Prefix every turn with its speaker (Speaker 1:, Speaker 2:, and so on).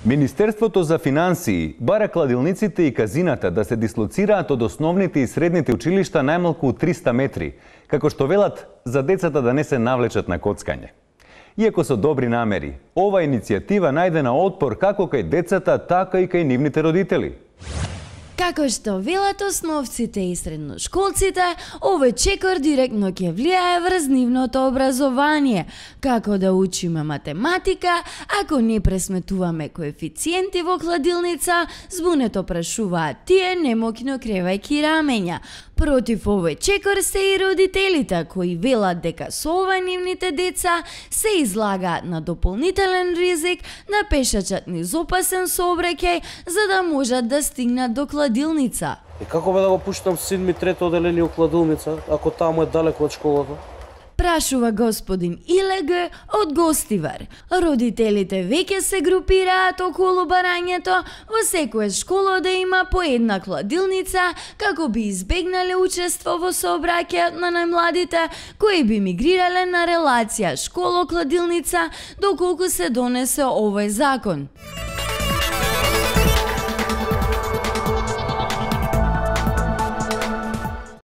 Speaker 1: Министерството за финансии бара кладилниците и казината да се дислоцираат од основните и средните училишта најмалку 300 метри, како што велат за децата да не се навлечат на коцкање. Иако со добри намери, ова иницијатива најде на отпор како кај децата, така и кај нивните родители.
Speaker 2: Како што велат основците и средношколците, овој чекор директно ќе влијае врз нивното образование, како да учиме математика, ако не пресметуваме коефициенти во кладилница, збунето прашуваат тие немокно кревајки рамења. Против овој чекор се и родителите, кои велат дека со ова нивните деца се излагаат на дополнителен ризик да пешачат низ опасен сообраќај за да можат да стигнат до кладилница.
Speaker 3: И како бе да го пуштам син ми трето оделение у кладилница, ако таму е далеко од школата?
Speaker 2: Прашува господин Илег од Гостивар. Родителите веќе се групираат околу барањето во секоја школа да има по една кладилница, како би избегнале учество во сообраќајот на најмладите кои би мигрирале на релација школа-кладилница доколку се донесе овој закон.